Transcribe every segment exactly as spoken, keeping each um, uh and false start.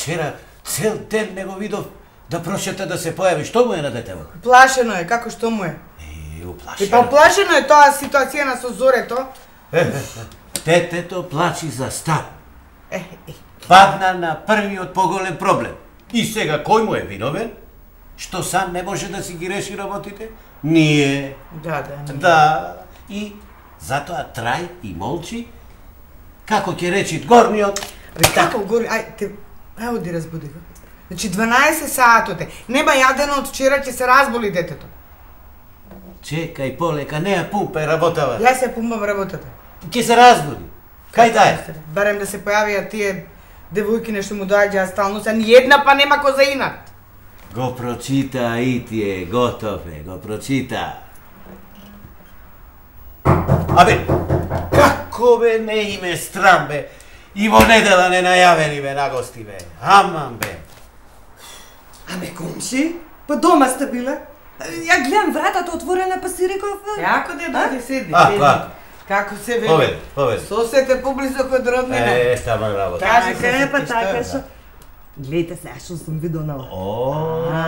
вчера цел ден не го видов да прочета да се појави. Што му е на детево? Плашено е, како што му е? Е, И уплашено. па плашено е тоа ситуација на со Зорето. Детето плачи за стар. Е, е. Падна на првиот поголем проблем. И сега кој му е виновен? Што сам не може да си ги реши работите? Ние. Да, да. Не. Да. И затоа трај и молчи. Како ќе речи горниот? Абе, како гори, ај, те, ај оди разбуди го. Значи дванаесет саатот е. Нема јадено од вчера, ќе се разболи детето. Чекај полека, не ја пумпај работава. Јас ја пумпам работата. Ќе се разбуди. Кај да е? Барем да се појавија тие девојки нешто му доаѓаа стално, са ни една па нема ко за инат. Го прочита и тие, готов е, го прочита. Абе, како бе не име страм бе, и во недела не најавени бе на гости бе, аман бе. Аме, комши, па дома сте биле? Ја гледам вратата отворена, па си реков... Јако де дојде седи. А, седи. па. Како се вели? Поведи, поведи. Сосете поблизо код роднина. Е, тама работа. Кажи Така е, се, па ти, така што е, што... Гледайте се, што сум видел на... О, А.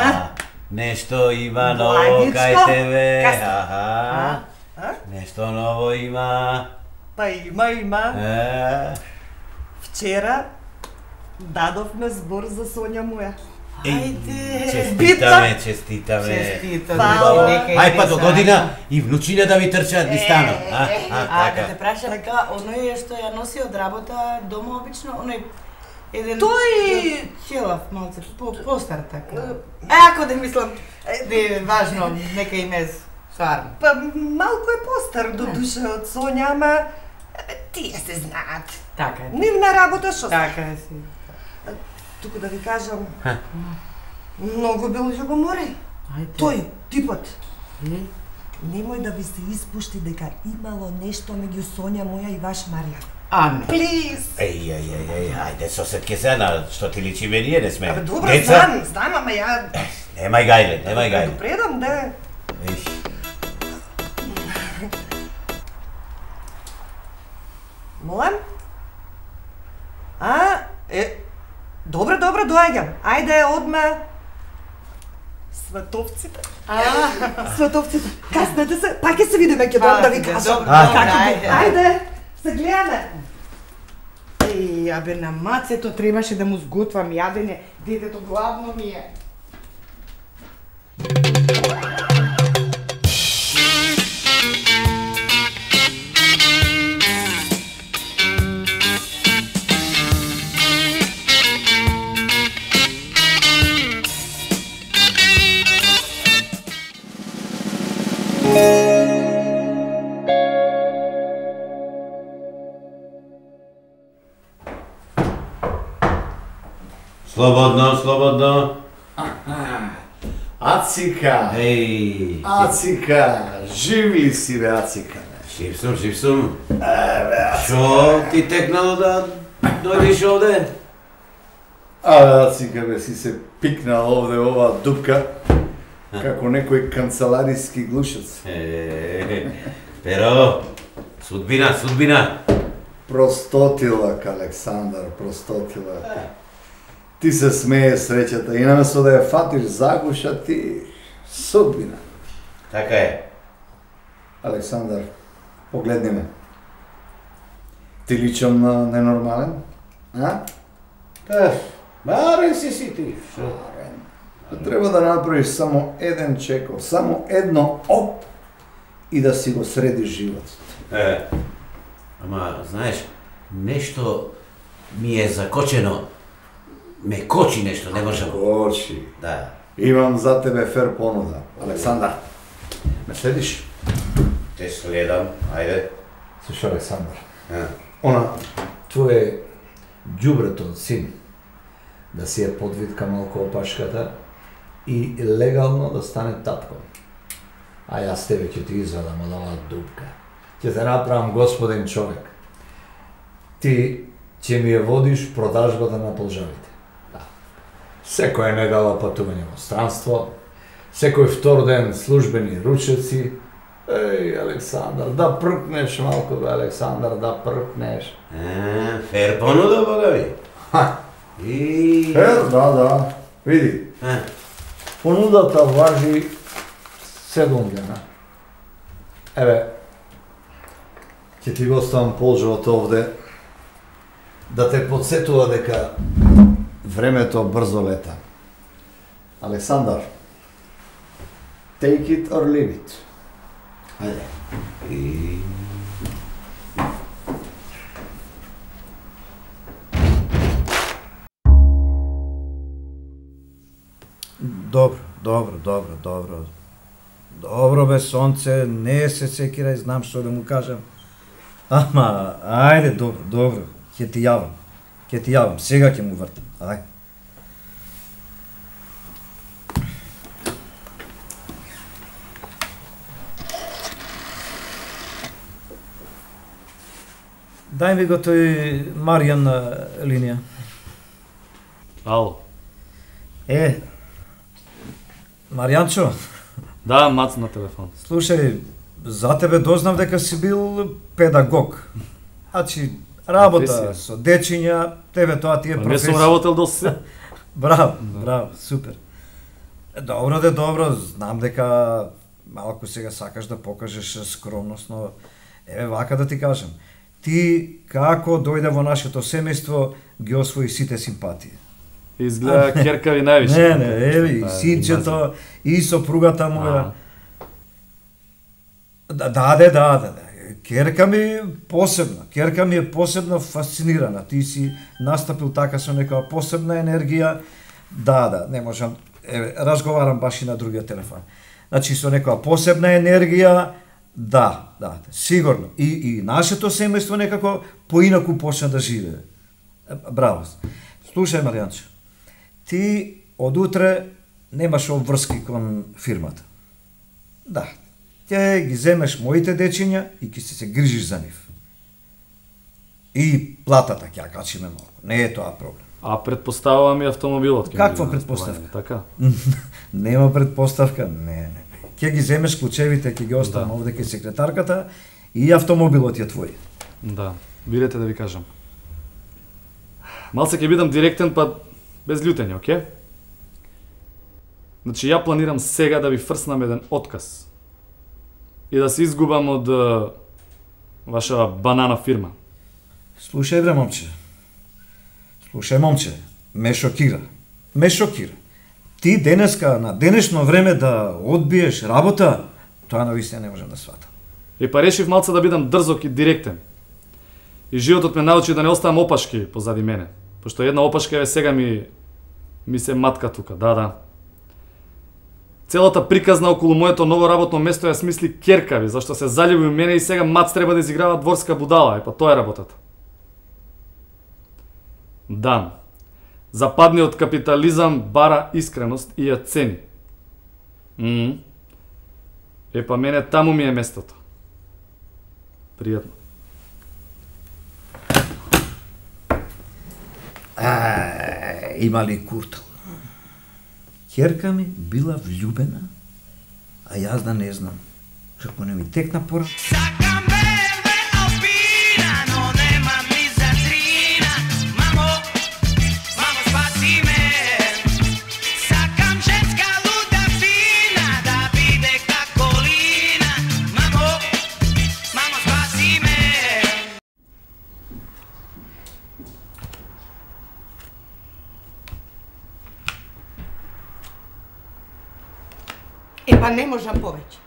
да. Нешто има ново Благичко. кај тебе. Кај- Аха. А? Нешто ново има. Па има, има. Е. Вчера дадовме збор за Сонја моја. Ајде. Честитаме, честитаме. Честитам. Фала. Нека и Ај па не до са. година и внучиња да ви трчаат ги станат. А, а, А, да така. те прашам, така, оној што ја носи од работа дома обично, оној еден Тој- челав малце, по постар така. Е, ако да мислам, е важно, нека им е сварно. Па малку е постар до душа од Сонја, ама е, тие се знаат. Така е. Нивна работа што се. Така е си. Туку да ви кажам, многу бил љубоморен. Ајде. Тој, типот. Е, Немој да ви се испушти дека имало нешто меѓу Сонја моја и ваш Марија. Аме. Плиз! Еј, еј, еј, еј, ајде сосед ке се на што ти личи ме ние не сме. Абе, добро, Деца? знам, знам, ама ја... Немај гајле, немај Да гајле. го предам, да... Еј. Молам? А, е... Добро, добро, доаѓам. Ајде, одма... Световците. А, Световците. Каснете се, пак ќе се видиме, ќе Фала дам да ти, ви да, кажам. добро, Како добро, би- ајде. Ајде, се гледаме. Еј, абе на мацето требаше да му сготвам јадење, детето гладно ми е. Слободно, слободно. Ацика! Еј. Ацика! Жив ли си, бе, Ацика? Жив сум, жив сум. Шо ти текнало да дојдеш овде? А, Ацика, бе, си се пикнал овде оваа дупка, како некој канцелариски глушец. Е, Pero, судбина, судбина. Простотилак, Александар, простотилак. Ти се смее среќата и наместо да ја фатиш загуша, ти судбина. Така е. Александар, погледни ме. Ти личам на ненормален? А? Та, барен си си ти. Шо? Треба да направиш само еден чекор, само едно оп и да си го средиш животот. Е, ама, знаеш, нешто ми е закочено. Ме кочи нешто, не можам. Кочи. Да. Имам за тебе фер понуда. Александар, ме следиш? Те следам, ајде. Слушай, Александар, А. она твое ѓубрето син да си ја подвитка малку опашката и легално да стане татко. А јас тебе ќе ти извадам од оваа дупка. Ќе те направам господин човек. Ти ќе ми ја водиш продажбата на полжавите. Да. Секоја недела патување во странство, секој втор ден службени ручеци. Еј, Александар, да пркнеш малку, бе, Александар, да пркнеш. А, фер понуда, бога ви. Ха, И... Е, да, да. Види. А? Понудата важи седум дена. Еве, ќе ти го оставам полжот овде да те подсетува дека времето брзо лета. Александар, take it or leave it. Ајде. И... Добро, добро, добро, добро. Добро бе, сонце, не се секирај, знам што да му кажам. Ама, ајде, добро, добро, ќе ти јавам. Ќе ти јавам, сега ќе му вртам, ајде. Дај ми го тој Маријан на линија. Ало. Е, Маријанчо, Да, Мац на телефон. слушај, за тебе дознав дека си бил педагог. Значи, работа Професија. со дечиња, тебе тоа ти е Па не професија. сум работел до се. Браво, браво, супер. Е, Добро де, добро, знам дека малку сега сакаш да покажеш скромност, но еве вака да ти кажам. Ти како дојде во нашето семејство ги освои сите симпатии. Изгледа керкави највише. Не, не, еве, и Таа синчето, и сопругата му. А. Да, да, да, да, да. Керка ми е посебна, керка ми е посебно фасцинирана. Ти си настапил така со некоја посебна енергија. Да, да, не можам, еве, разговарам баш и на другиот телефон. Значи, со некоја посебна енергија, да, да, сигурно. И, и нашето семејство некако поинаку почна да живее. Е, Браво. Слушај, Маријанчо, ти од утре немаш обврски кон фирмата. Да, ќе ги земеш моите дечиња и ќе се се грижиш за нив. И платата ќе ја качиме малку. Не е тоа проблем. А предпоставувам и автомобилот. ќе ми Каква ги предпоставка? располагаме, Така. Нема предпоставка, не, не. Ќе ги земеш клучевите, ќе ги оставам Да. овде кај секретарката и автомобилот е твој. Да. Видете да ви кажам. Малце ќе бидам директен, па без љутење, оке? Значи, ја планирам сега да ви фрснам еден отказ. И да се изгубам од е, ваша банана фирма. Слушај бре, момче. Слушај, момче, ме шокира. Ме шокира. Ти денеска, на денешно време да одбиеш работа, тоа навистина не можам да сватам. И па решив малце да бидам дрзок и директен. И животот ме научи да не оставам опашки позади мене. Пошто една опашка е сега ми ми се матка тука, да, да. Целата приказна околу моето ново работно место ја смисли керкави, зашто се заљуби у мене и сега Мац треба да изиграва дворска будала, е па тоа е работата. Да. Западниот капитализам бара искреност и ја цени. Мм. Е па мене таму ми е местото. Пријатно. А, има ли куртал? Ќерка ми била влюбена, а јас да не знам. Како не ми текна пора. Sacam bebe opina, no nemam ni za trina. Mamo, mamo spasi me. Sacam ženska luda fina, da vide kako lina. Mamo, mamo spasi me. Е, па не можам повеќе.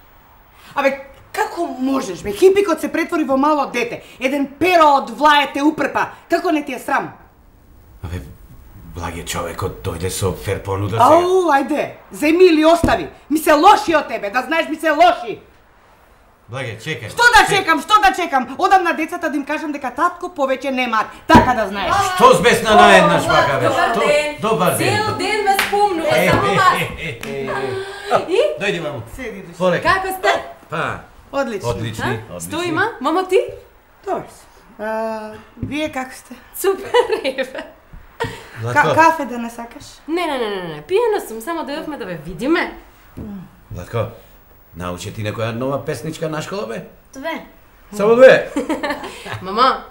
Абе, како можеш, бе? Хипикот се претвори во мало дете. Еден перо од влаје те упрпа. Како не ти е срам? Абе, благе човекот дојде со фер понуда сега. Ау, ајде, земи или остави. Ми се лоши од тебе, да знаеш, ми се лоши. Благе, чекај. Што да чекам, што да чекам? Одам на децата да им кажам дека татко повеќе нема. Така да знаеш. Што збесна наеднаш вака, бе? Добар Што? ден! Добар ден. Цел ден ме спомнува, Е, само е, вас. е, е, е. И? Дојди, мамо. Седи, души. Полека. Како сте? Па, Одлично. одлични, А? одлични. Што има? Мамо ти? Добро си. А, вие како сте? Супер, еве. Ка Владко, кафе да не сакаш? Не, не, не, не, не, пиена сум, само дојавме да ве видиме. Владко, научи ти некоја нова песничка на школа, бе? Две. Само две. Мама,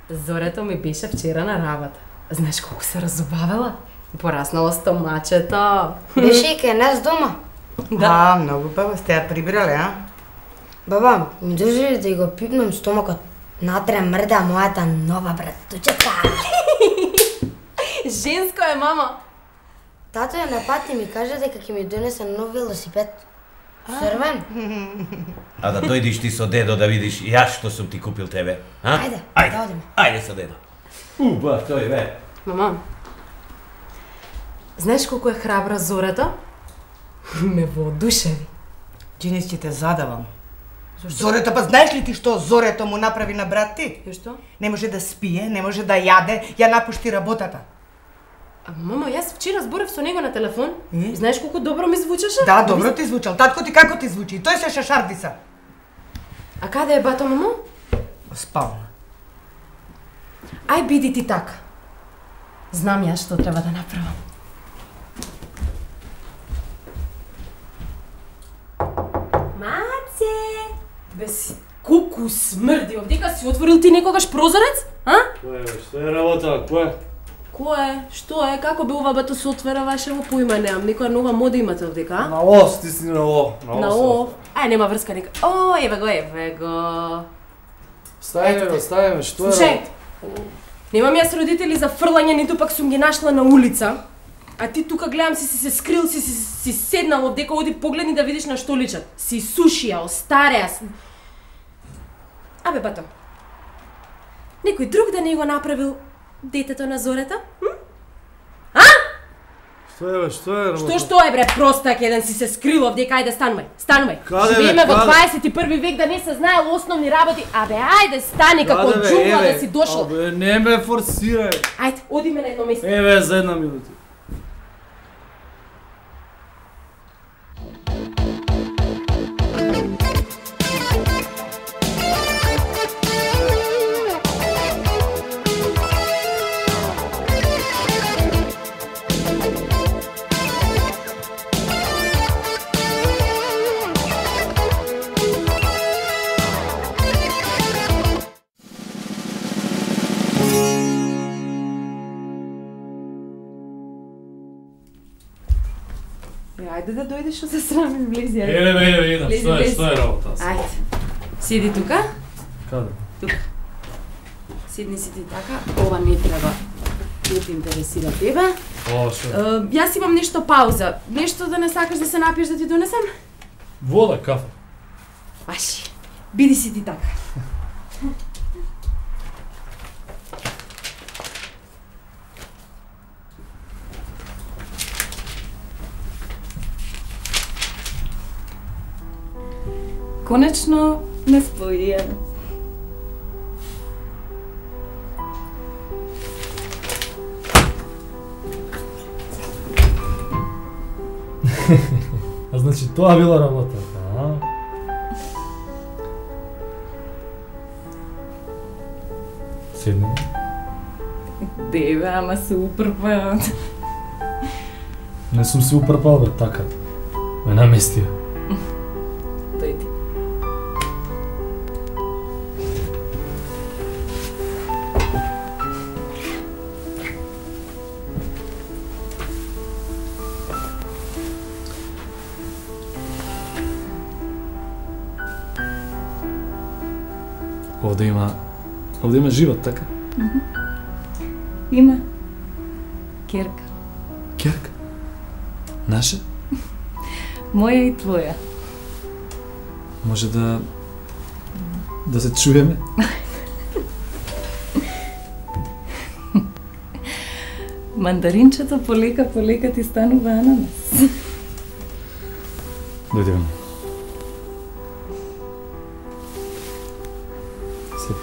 Зорето ми беше вчера на работа. Знаеш колку се разубавила? И пораснало стомачето. Беше и кај нас дома. Да, многу баба сте ја прибрале, а? Баба, ми дожи ли да го пипнам стомакот? Натре мрда мојата нова братучета. Женско е, мама. Тато ја напати и ми кажа дека ќе ми донесе нов велосипед. Црвен. А да дојдиш ти со дедо да видиш јас што сум ти купил тебе, а? Ајде, ајде, да одиме. ајде со дедо. Уба, тој бе. Мама, знаеш колку е храбра Зората? Ме воодушеви. Джинис, ќе те задавам. Зорето, па знаеш ли ти што Зорето му направи на брат ти? И што? Не може да спие, не може да јаде, ја напушти работата. А, мама, јас вчера зборев со него на телефон. И? И знаеш колку добро ми звучеше? Да, добро ти звучал. Татко ти како ти звучи? Тој се шашардиса. А каде е бато, мамо? Спална. Ај биди ти така. Знам јас што треба да направам. Маце! Бес, колку смрди, овдека си отворил ти некогаш прозорец? А? Кој е, што е работа, кој? Кој е? Што е? Како бе ова бато се отвера вашево поима, немам некоја нова мода имате овдека, а? На О, стисни на О. На О. Ај, нема врска нека. О, еве го, еве го. Ставиме го, ставиме, што е? Слушај, немам јас родители за фрлање, ниту пак сум ги нашла на улица. А ти тука гледам си си се скрил, си си, си седнал овдека, оди погледни да видиш на што личат. Си сушија, остареа. Абе, бато. Некој друг да не го направил детето на Зората? М? А? Што е, бе, што е работа? Што што е бре, простак еден си се скрил овдека, ајде станувај. Станувај. Каде, бе, Живееме во каде? дваесет и први век да не се знаел основни работи. Абе, ајде стани како Каде, бе, џунгла еве? да си дошол. Абе, не ме форсирај. Ајде, одиме на едно место. Еве, за една минута. Ајде да дојдеш што се срамим, влези, ајде. Еве, еве, еве, идам, Влези, што е, влези. што е работа? Ајде. Седи тука. Каде? Тука. Седни си ти така. Ова не треба. Не те интересира тебе. О, што? Е, јас имам нешто пауза. Нешто да не сакаш да се напиеш да ти донесам? Вода, кафе. Ваши. Биди си ти така. Конечно не споија. А значи тоа била работата, а? Седни. Деве, ама се упрпа. Не сум се упрпал, бе, така. Ме наместија. Тој ти. Овде има... Овде има живот, така? Има. Керка. Керка? Наша? Моја и твоја. Може да... да се чуеме? Мандаринчето полека полека ти станува ананас. Дојдеме. Седи.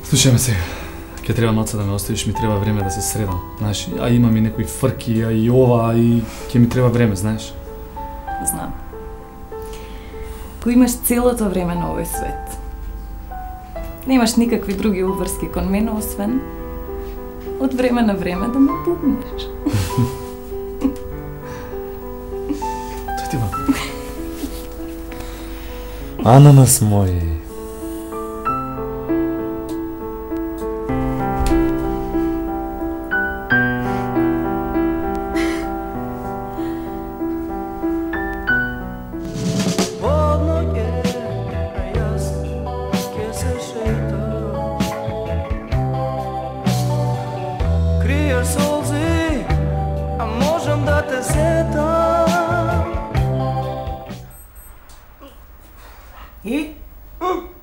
Слушај ме сега. Ке треба маца да ме оставиш, ми треба време да се средам, знаеш, а имам и некои фрки, а и ова, а и ке ми треба време, знаеш. Знам. Кој имаш целото време на овој свет. Немаш никакви други уврски кон мене, освен од време на време да ме бубнеш. Тој ти ба. Ананас мој.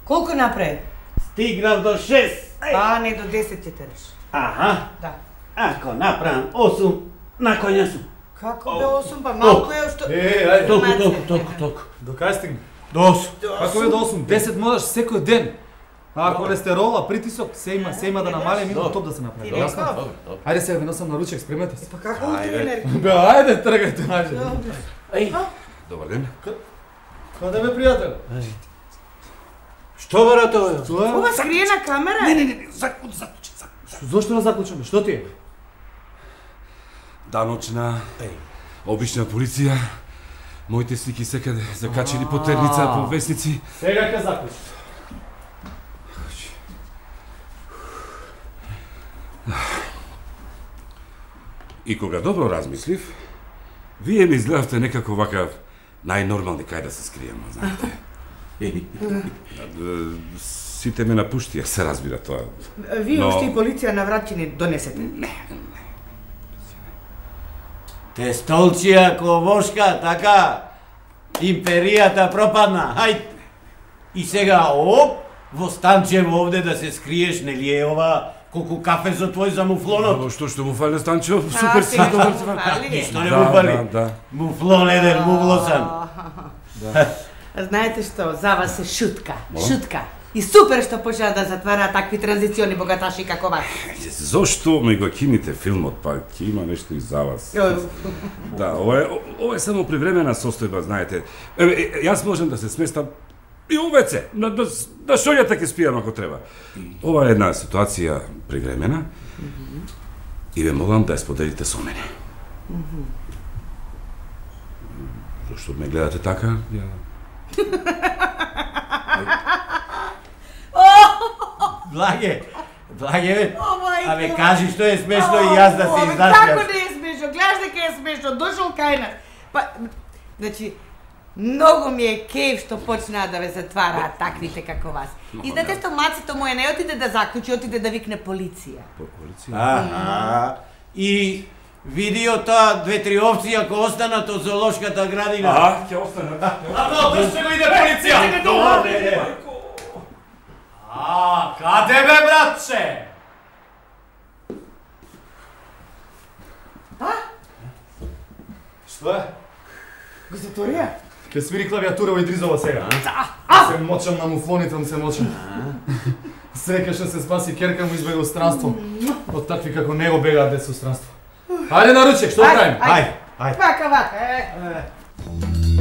Колку направи? Стигнав до шест. А, не, до десет ќе тераш. Аха. Да. Ако направам осум, на коња сум. Како бе осум, па малку е што... Е, ајде, Толку, толку, толку, толку. до кај стигна? До осум. Како е до осум? десет можеш секој ден. А холестерола, притисок, се има, се има да намале, минут топ да се направи. Ти Јасно? реков? Добро, добро. Ајде сега ви носам на ручек, спремете се. Па како утре енергија? Бе, ајде, тргајте најде. Еј, Добар ден. Каде бе, пријател? што брат ова? Тоа е? Ова скриена камера? Не, не, не, заклучи, заклучи, заклучи. Зошто не заклучаме? Што ти е? Даночна, обична полиција. Моите слики секаде закачени по терница, по весници. Сега ќе заклучи. И кога добро размислив, вие ми изгледавте некако вака најнормални кај да се скриеме, знаете. Сите ме напуштија, се разбира тоа. Вие Но- уште и полиција на врат ќе ни донесете. Те столчија ковошка, така, империјата пропадна, хајд. И сега, оп, во Станчево овде да се скриеш, нели е ова, колку кафе за твој за муфлонот? Но што што му фали Станчо, супер си сега добар. што му фали? Ништо не Да, му фали. да, да. Муфлон еден, мувлосан. Знаете што, за вас е шутка, шутка. И супер што почнаа да затвараат такви транзициони богаташи како вас. Зошто ми го кините филмот, па ќе има нешто и за вас. Да, ова е, ова е само привремена состојба, знаете. Еве, е, јас можам да се сместам и у ве це, на, на, на шолјата ќе спијам ако треба. Ова е една ситуација привремена и ве молам да ја споделите со мене. Зошто ме гледате така? Ја... Благе, благе, бе. О, мајке, Абе, моја. кажи што е смешно и јас да се Абе, изнасмеам. како не е смешно? Гледаш дека е смешно, дошол кај нас. Па, значи, многу ми е кеф што почнаа да ве затвараат таквите како вас. И знаете што мацето моје не отиде да заклучи, отиде да викне полиција. По полиција? Аха. И видио таа две-три овци ако останат од зоолошката градина. А, ќе останат. Амо, држте го иде полиција! А, каде бе, братче? А? Што е? Го затворија? Ке свири клавиатура во Идризова сега. Се мочам на муфлоните, се мочам. Среќа што се спаси керка му избега од странство. Од такви како него бегаат деца од странство. Ајде на ручек, што правим? Ај, ај. Вака, вака, е.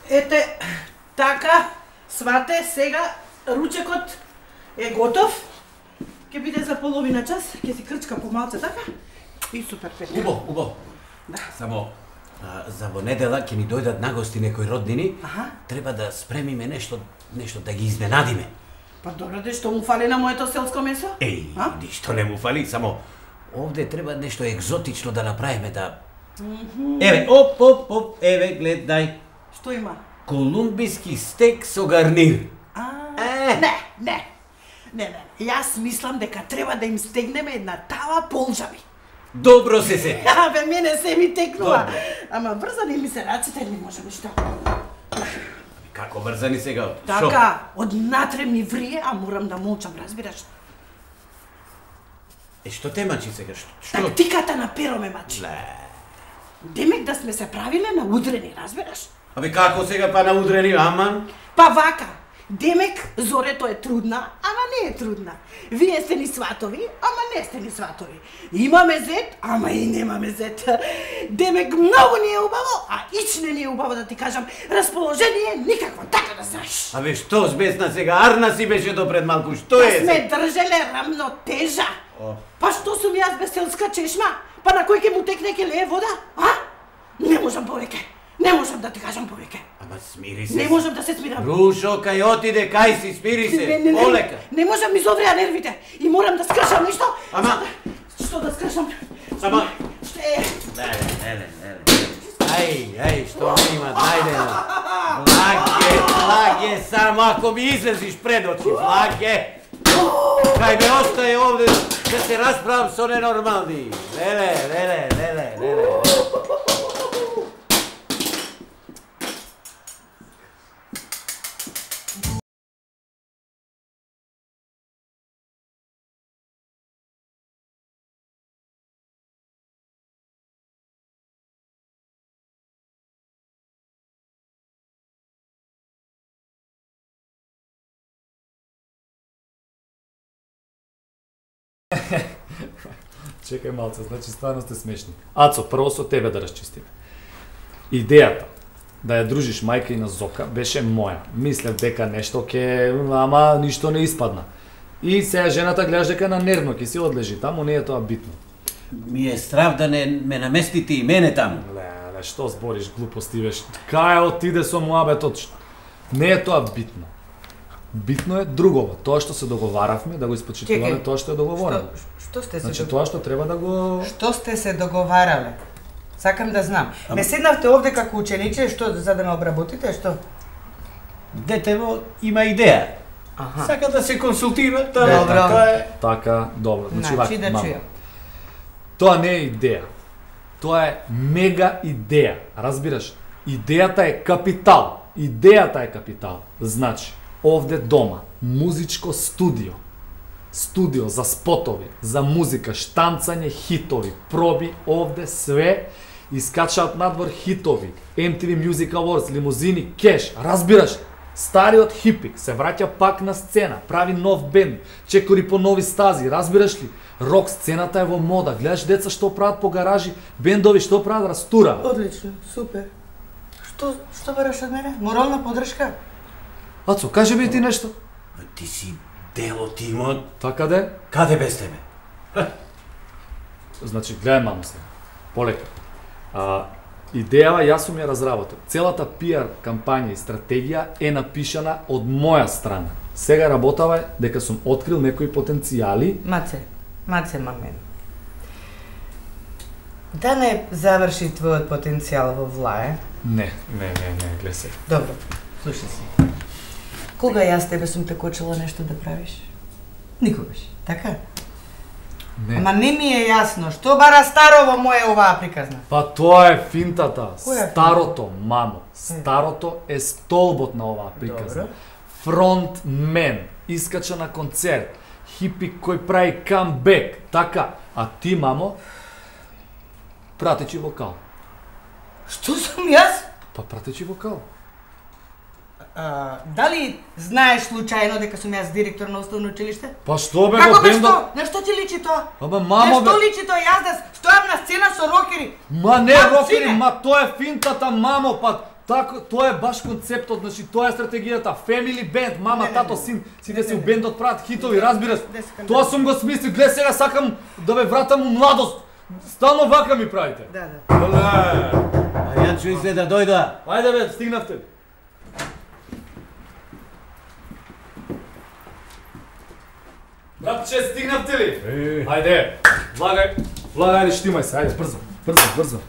Ете, така, свате, сега ручекот е готов. Ќе биде за половина час, ќе си крчка помалце, така? И супер, Петре. Убо, убо. Да. Само, а, за во недела ќе ни дојдат нагости некои роднини. Аха. Треба да спремиме нешто, нешто да ги изненадиме. Па добро, де што му фали на моето селско месо? Еј, А? ништо не му фали, само овде треба нешто екзотично да направиме да... Еве, оп, оп, оп, еве, гледај. Што има? Колумбиски стек со гарнир. А, Е. не, не. Не, не, јас мислам дека треба да им стегнеме една тава полжави. Добро се се. А, бе, мене се ми текнува. Добро. Ама врзани ми се раците, не можам ништо. Како врзани сега? Така, од натре ми врие, а морам да молчам, разбираш? Е, што те мачи сега? Што? Што? Тактиката на перо ме мачи. Ле. Демек да сме се правиле на удрени, разбираш? Абе, како сега па на удрени, аман? Па вака, демек Зорето е трудна, ама не е трудна. Вие сте ни сватови, ама не сте ни сватови. Имаме зет, ама и немаме зет. Демек многу ни е убаво, а ич не ни е убаво да ти кажам. Расположение никакво, така да знаеш. Абе, што сбесна сега? Арна си беше допред малку, што Да е? сме држеле рамнотежа. Па што сум јас без селска чешма? Па на кој ќе му текне ке лее вода? А? Не можам повеќе. Не можам да ти кажам повеќе. Ама смири се. Не можам да се смирам. Рушо, кај отиде, кај си, спири Не, се, не, не, полека. не можам, ми зовреа нервите. И морам да скршам нешто. Ама- За да- Што да скршам? Ама- Што е? Леле, леле, леле. Ај, ај, што има, најдено. Благе, Е, само ако ми излезиш пред очи, Флаке. Кај ме остае овде да се расправам со ненормални. Леле, леле, леле, леле. Чекај малце, значи стварно сте смешни. Ацо, прво со тебе да расчистиме. Идејата да ја дружиш мајка и на Зока беше моја. Мислев дека нешто ке, ама ништо не испадна. И сега жената гледаш дека на нервно ќе си одлежи таму, не е тоа битно. Ми е страв да не ме наместите и мене таму. Леле, што збориш глупости веш? Кај отиде со муабетот? Не е тоа битно. Битно е другово, тоа што се договаравме да го испочитуваме, тоа што е договорено. Што сте се Значи договарале? тоа што треба да го Што сте се договарале? Сакам да знам. Не седнавте овде како учениче, што за да ме обработите, што? Детево има идеја. Аха. Сака да се консултира, тоа Добро. така е. така, добро. Значи, Значи вака, да мамо. чујам. Тоа не е идеја. Тоа е мега идеја. Разбираш? Идејата е капитал. Идејата е капитал. Значи, овде дома, музичко студио. Студио за спотови, за музика, штамцање хитови, проби, овде све искачаат надвор хитови, Ем Ти Ви Music Awards, лимузини, кеш, разбираш? Стариот хипик се враќа пак на сцена, прави нов бенд, чекори по нови стази, разбираш ли? Рок сцената е во мода, гледаш деца што прават по гаражи, бендови што прават, растура. Одлично, супер. Што што бараш од мене? Морална поддршка? Ацо, кажи ми ти нешто. Ти си дел од тимот. Така де? Каде без тебе? Значи, гледај мамо се. Полека. А, идејава јас сум ја разработил. Целата пиар кампања и стратегија е напишана од моја страна. Сега работава дека сум открил некои потенцијали. Маце, маце мамен. Да не заврши твојот потенцијал во влае. Не, не, не, не, гледај се. Добро, слушај се. Кога јас тебе сум те кочила нешто да правиш? Никогаш, така? Не. Ама не ми е јасно, што бара старо во моја оваа приказна? Па тоа е финтата. Која е Старото, мамо. Старото е столбот на оваа приказна. Добро. Фронтмен, искача на концерт, хипик кој прави камбек, така. А ти, мамо, пратечи вокал. Што сум јас? Па пратечи вокал. А, дали знаеш случајно дека сум јас директор на основно училиште? Па што бе Како во бе бендот? што? На што ти личи тоа? Ама мамо На што бе. личи тоа? Јас да стојам на сцена со рокери. Ма не Ма, рокери, сине. ма тоа е финтата, мамо, па тако, тоа е баш концептот, значи тоа е стратегијата, family band, мама, Не, не, тато, не. син, сите Не, си не, у не. бендот прават хитови, разбираш? Не сакам Тоа да- сум го смислил, гледа сега сакам да ве вратам у младост. Стално вака ми правите. Да, да. Оле! А Јанчо изгледа дојда. Ајде бе, стигнавте. Братче, стигнавте ли? Ајде, влагај, влагај, ајде, штимај се, ајде, брзо, брзо, брзо.